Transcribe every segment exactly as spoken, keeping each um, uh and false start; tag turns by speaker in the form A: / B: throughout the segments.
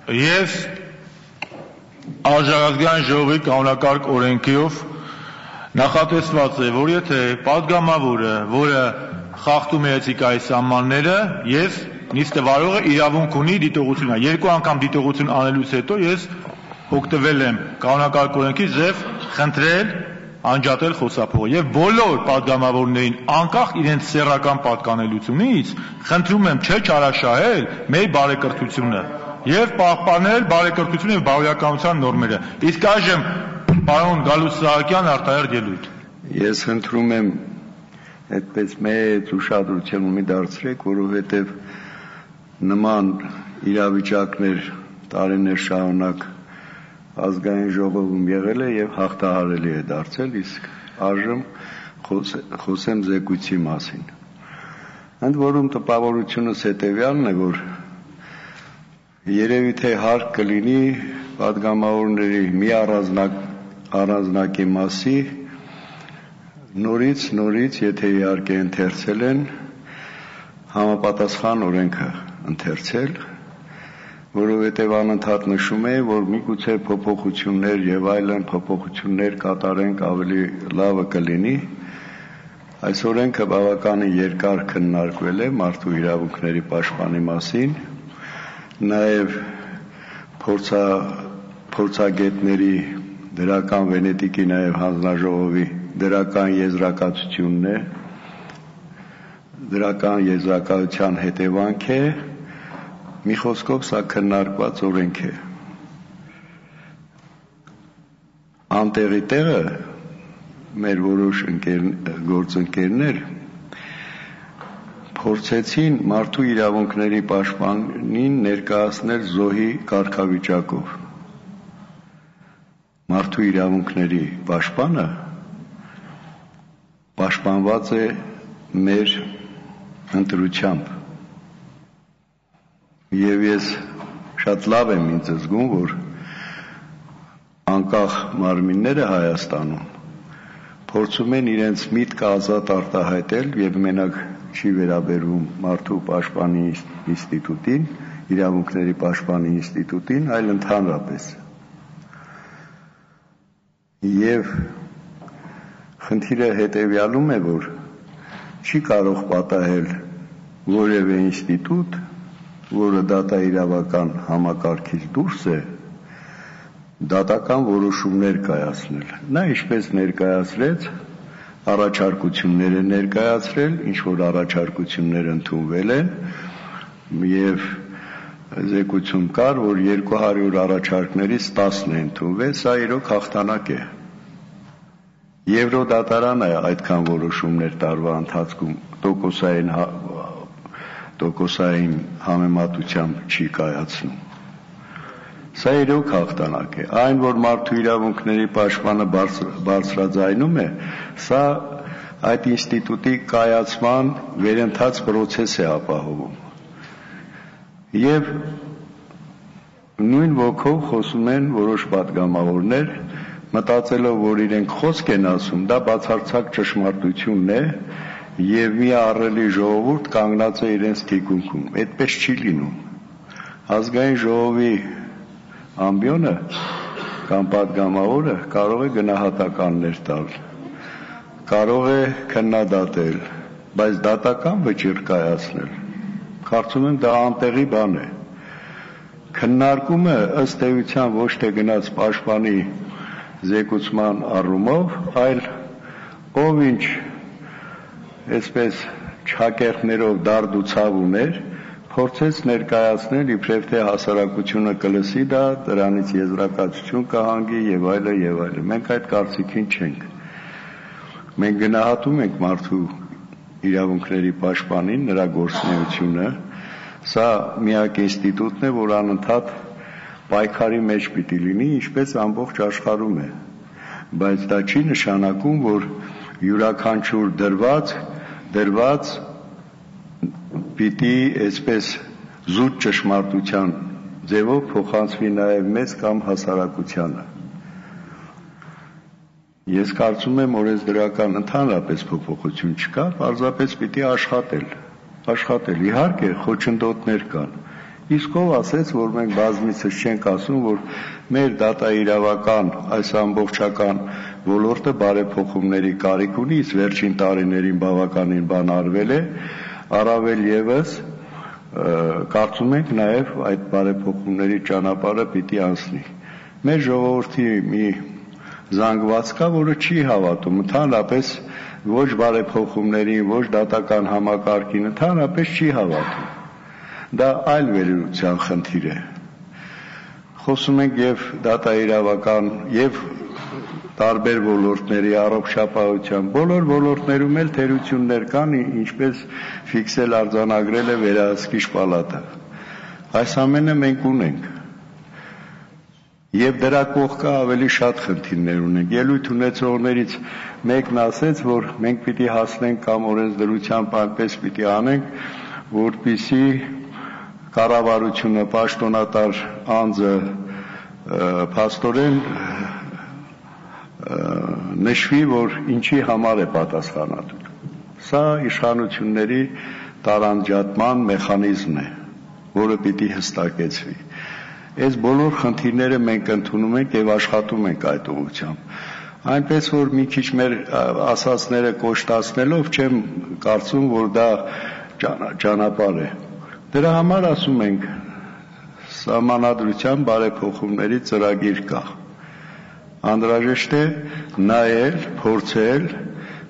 A: Ես Արժանապատվության ժողովի կանոնակարգ օրենքով նախատեսված է, որ եթե պատգամավորը, որը խախտում է էթիկայի սահմանները, ես նիստը վարողը իրավունք ունի դիտողություն, երկու անգամ դիտողություն անելուց հետո ես օգտվել եմ կանոնակարգ օրենքի ձև խնդրել անջատել խոսափողը եւ բոլոր պատգամավորներին անկախ իրենց սեռական պատկանելությունից խնդրում եմ չչարաշահել մեր բարեկրթությունը եւ պահպանել բարեկրթությունը եւ բարոյականության նորմերը։ Իսկ այժմ պարոն Գալուստ Սահակյան արտահերթ ելույթ։
B: Ես խնդրում եմ այդպես մեծ ուշադրություն մի դարձրեք, որովհետեւ նման իրավիճակներ տարիներ շարունակ ազգային ժողովում եղել է եւ հաղթահարելի է դարձել, իսկ այժմ խոսեմ զեկույցի մասին։ Ընդ որում տպավորությունս հետեւյալն է, որ երևի թե հարկ կլինի պատգամավորների մի առանձնակի մասի նորից նորից, եթե իհարկե ընթերցել են, համապատասխան օրենքը ընթերցել, որովհետև անընդհատ նշում է, որ միգուցե փոփոխություններ եւ այլն փոփոխություններ կատարենք ավելի լավը կլինի։ Այս օրենքը բավականին երկար քննարկվել է մարդու իրավունքների պաշտպանի մասին, նաեւ փորձա փորձագետների դրական Վենետիկի նաեւ հանձնաժողովի դրական եզրակացությունն է, դրական եզրակացության հետևանք է, մի խոսքով սա քննարկված օրենք է։ Անտեղի տեղը մեր որոշ գործընկերներ փորձեցին մարդու իրավունքների պաշտպանին ներկայացնել զոհի կարգավիճակով։ Մարդու իրավունքների պաշտպանը պաշտպանված է մեր ընտրությամբ։ Եվ ես շատ լավ եմ ինձ զգում, որ անկախ մարմինները Հայաստանում փորձում են իրենց միտքը ազատ արտահայտել եւ մենակ չի վերաբերվում մարդու պաշտպանի ինստիտուտին, իրավունքների պաշտպանի ինստիտուտին, այլ ընդհանրապես։ Եվ խնդիրը հետեւյալում է, որ չի կարող պատահել որևէ ինստիտուտ, որը դատաիրավական համակարգից դուրս է, դատական որոշումներ կայացնել։ Նա ինչպես ներկայացրեց, առաջարկություններ է ներկայացրել, ինչ որ առաջարկություններ ընդունվել են, եւ զեկույցում կար, որ երկու հարյուր առաջարկներից տասն է ընդունվել, սա իրոք հաղթանակ է։ Եվրոդատարանը այդքան որոշումներ տարվա ընթացքում տոկոսային տոկոսային համեմատությամբ չի կայացնում։ Սա իրոք հաղթանակ է։ Այն, որ մարդու իրավունքների պաշտպանը բարձրաձայնում է, սա այդ ինստիտուտի կայացման վերընթաց process է ապահովում։ Եվ նույն ոգով խոսում են որոշ պատգամավորներ, մտածելով, որ իրենք խոսք են ասում, դա բացարձակ ճշմարտությունն է, եւ մի ահռելի ժողովուրդ կանգնած է իրենց թիկունքում։ Այդպես չի լինում։ Ազգային ժողովի ամբիոնը կամ պատգամավորը կարող է գնահատականներ տալ, կարող է քննադատել, բայց դատական վճիռ կայացնել։ Կարծում եմ դա անտեղի բան է։ Քննարկումը ըստ էության ոչ թե գնաց պաշտպանի զեկուցման առումով, այլ ով ինչ այսպես չակերտներով դարդ ու ցավ ուներ, փորձեց ներկայացնել իբրև թե հասարակությունը կլսի դա, դրանից եզրակացություն կհանգի եւ այլը եւ այլը։ Մենք այդ կարծիքին չենք։ Մենք գնահատում ենք մարդու իրավունքների պաշտպանին, նրա գործունեությունը, սա միակ ինստիտուտն է, որ անընդհատ պայքարի մեջ պիտի լինի, ինչպես ամբողջ աշխարհում է։ Բայց դա չի նշանակում, որ յուրաքանչյուր դրված դրված պիտի այսպես զուտ ճշմարտության ձևով փոխանցվի նաև մեզ կամ հասարակությանը։ Ես կարծում եմ, օրենսդրական ընդհանրապես փոփոխություն չկա, պարզապես պիտի աշխատել, աշխատել։ Իհարկե, խոչընդոտներ կան, Իսկ ով ասեց, որ մենք բազմիցս չենք ասում, որ մեր դատաիրավական այս ամբողջական ոլորտը բարեփոխումների կարիք ունի, իսկ վերջին տարիներին բավականին բան արվել է, առավել եւս կարծում ենք նաեւ այդ բարեփոխումների ճանապարհը պիտի անցնի։ Մեր ժողովրդի մի զանգված կա, որը չի հավատում, ընդհանրապես ոչ բարեփոխումներին, ոչ դատական համակարգին, ընդհանրապես չի հավատում։ Դա այլ վերլուծության խնդիր է։ Խոսում ենք եւ դատաիրավական եւ տարբեր ոլորտների առողջապահության, բոլոր ոլորտներում էլ թերություններ կան, ինչպես ֆիքսել արձանագրել է վերահսկիչ պալատը։ Այս ամենը մենք ունենք։ Եվ դրա կողքը ավելի շատ խնդիրներ ունենք։ Ելույթ ունեցողներից մեկն ասեց, որ մենք պիտի հասնենք կամ օրենսդրությամբ այնպես պիտի անենք, որպեսզի կառավարությունը, պաշտոնատար անձը փաստորեն նշվի, որ ինչի համար է պատասխանատու։ Սա իշխանությունների տարանջատման մեխանիզմն է, որը պիտի հստակեցվի։ Այս բոլոր խնդիրները մենք ընդունում ենք եւ աշխատում ենք այդ ուղղությամբ։ Այնպես որ մի քիչ մեր ասածները կոշտացնելով չեմ կարծում, որ դա ճանապարհ է։ Դրա համար ասում ենք սահմանադրության բարեփոխումների ծրագիր կա։ Անհրաժեշտ է նայել, փորձել,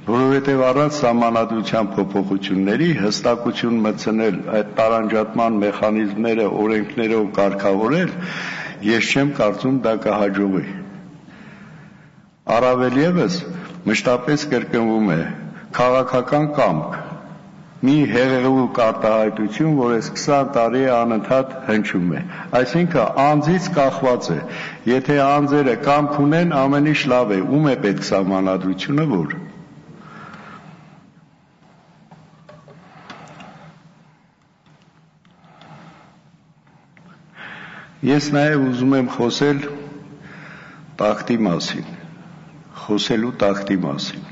B: որովհետև առանց սահմանադրության փոփոխությունների հստակություն մտցնել այդ տարանջատման մեխանիզմները օրենքներով կարգավորել, ես չեմ կարծում դա կհաջողի։ Առավել եւս մշտապես կրկնվում է քաղաքական կամք, մի հեղեղուկ արտահայտություն, որ այս քսան տարի է անընդհատ հնչում է։ Այսինքն անձից կախված է։ Եթե անձերը կամք ունեն, ամեն ինչ լավ է, ում է պետք սահմանադրությունը, որ Ես նաև ուզում եմ խոսել տախտի մասին, խոսելու տախտի մասին։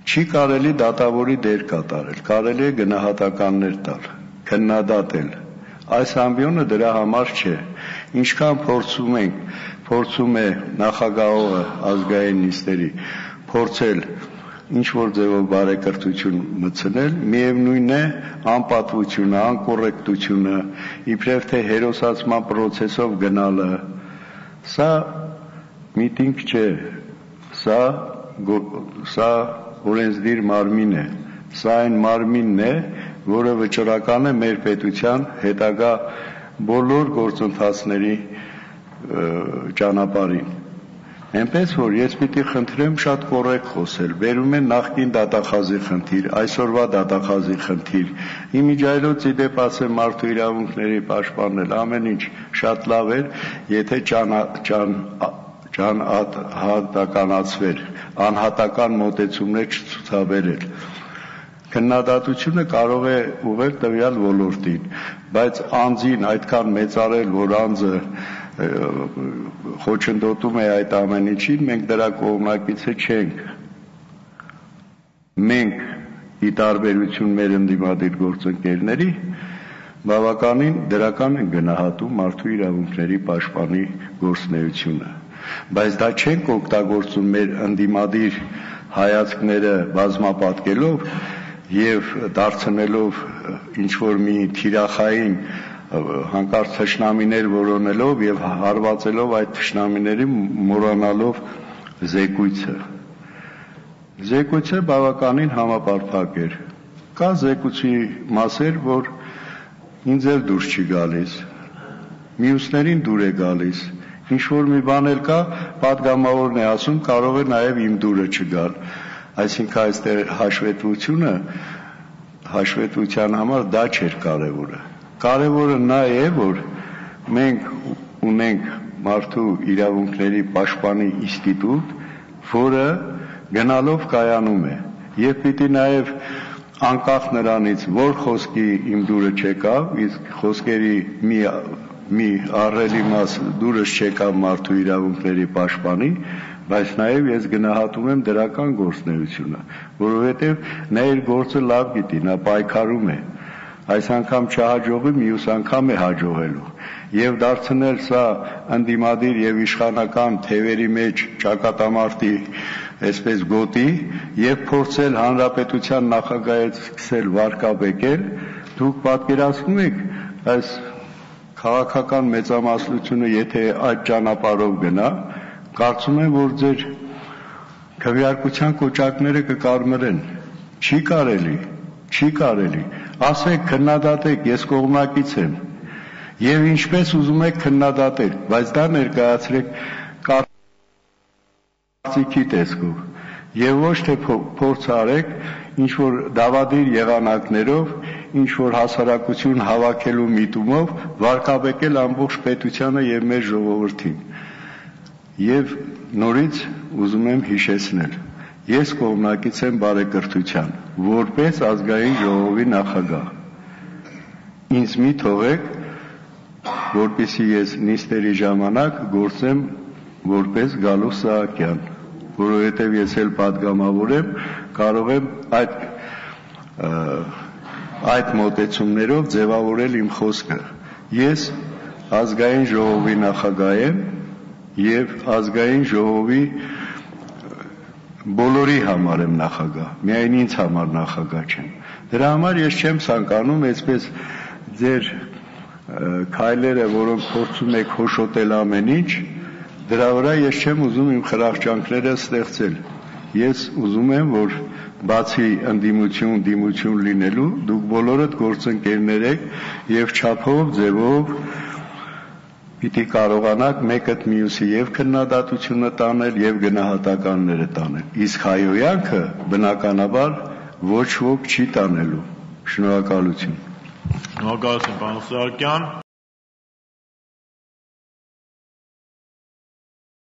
B: Չի կարելի դատավորի դեր կատարել, կարելի է գնահատականներ տալ, քննադատել։ Այս ամբիոնը դրա համար չէ։ Ինչքան փորձում ենք, փորձում է նախագահողը ազգային նիստերի փորձել ինչ-որ ձևով բարեկրթություն մտցնել, միևնույն է անպատվությունը, անկոռեկտությունը, իբրև թե հերոսացման պրոցեսով գնալը, սա միտինգ չէ, սա սա օրենսդիր մարմին է, սա այն մարմինն է, որը վճռական է մեր պետության հետագա բոլոր գործընթացների ճանապարհին։ Այնպես որ ես պիտի խնդրեմ շատ կոռեկտ խոսել, բերում են նախկին դատախազի խնդիր, այսօրվա դատախազի խնդիր, իմիջայլոց իդեպ ասեմ մարդու իրավունքների պաշտպանել, ամեն ինչ շատ լավ էր, եթե ճանհատականացվեր, անհատական մոտեցումներ չցուցաբերել։ Քննադատությունը կարող է ուղղել տվյալ ոլորտին, բայց անձին այդքան մեծարել, որ անձը խոչընդոտում է այդ ամեն ինչին, մենք դրա կողմնակիցը չենք։ Մենք ի տարբերություն մեր ընդդիմադիր գործընկերների բավականին դրական են գնահատում մարդու իրավունքների պաշտպանի գործունեությունը, բայց դա չենք օգտագործում մեր ընդդիմադիր հայացքները բազմապատկելով եւ դարձնելով ինչ որ մի թիրախային հանկարծ թշնամիներ որոնելով եւ հարվածելով այդ թշնամիների մոռանալով զեկույցը։ Զեկույցը բավականին համապարփակ էր։ Կա զեկույցի մասեր, որ ինձ էլ դուրս չի գալիս, մյուսներին դուր է գալիս, ինչ որ մի բան էլ կա, պատգամավորն է ասում, կարող է նաեւ իմ դուրը չգալ։ Այսինքն այստեղ հաշվետվությունը, հաշվետվության համար դա չէր կարևորը։ Կարևորը նա է, որ մենք ունենք մարդու իրավունքների պաշտպանի ինստիտուտ, որը գնալով կայանում է, եւ պիտի նաեւ անկախ նրանից, որ խոսքի իմ դուրը չեկավ, իսկ խոսքերի մի մի ահռելի մաս դուրս չեկավ մարդու իրավունքների պաշտպանի, բայց նաեւ ես գնահատում եմ դրական գործունեությունը, որովհետեւ նա իր գործը լավ գիտի, նա պայքարում է։ այս անգամ չհաջողի, մյուս անգամ է հաջողելու։ Եվ դարձնել սա ընդդիմադիր եւ իշխանական թևերի մեջ ճակատամարտի այսպես գոտի եւ փորձել հանրապետության նախագահից սկսել վարկաբեկել, դուք պատկերացնում եք այս քաղաքական մեծամասնությունը եթե այդ ճանապարհով գնա, կարծում եմ որ ձեր քվեարկության կոճակները կկարմրեն։ Չի կարելի, չի կարելի։ Ասեք, քննադատեք, ես կողմնակից եմ։ Եվ ինչպես ուզում եք քննադատել, բայց դա ներկայացրեք կարծիքի տեսքով եւ ոչ թե փորձ արեք ինչ որ դավադիր եղանակներով, ինչ որ հասարակություն հավաքելու միտումով վարկաբեկել ամբողջ պետությանը եւ մեր ժողովրդին։ Եվ նորից ուզում եմ հիշեցնել, ես կողմնակից եմ բարեկրթության, որպես ազգային ժողովի նախագահ։ Ինձ մի թողեք որպեսզի ես նիստերի ժամանակ գործեմ որպես Գալուս Սահակյան, որովհետև ես էլ պատգամավոր եմ, կարող եմ այդ այդ մոտեցումներով ձևավորել իմ խոսքը։ Ես ազգային ժողովի նախագահ եմ եւ ազգային ժողովի բոլորի համար եմ նախագահ, միայն ինձ համար նախագահ չեմ։ Դրա համար ես չեմ ցանկանում այսպես ձեր քայլերը, որոնք փորձում եք հոշոտել ամեն ինչ, դրա վրա ես չեմ ուզում իմ խրախճանքները ստեղծել։ Ես ուզում եմ, որ բացի ընդդիմություն, դիմություն լինելու, դուք բոլորդ գործընկերներ եք եւ չափով, ձևով պիտի կարողանաք մեկըդ մյուսի եւ քննադատությունը տանել եւ գնահատականները տանել։ Իսկ հայոյանքը բնականաբար ոչ ոք չի տանելու։ Շնորհակալություն։
A: Շնորհակալություն, պարոն Սահակյան։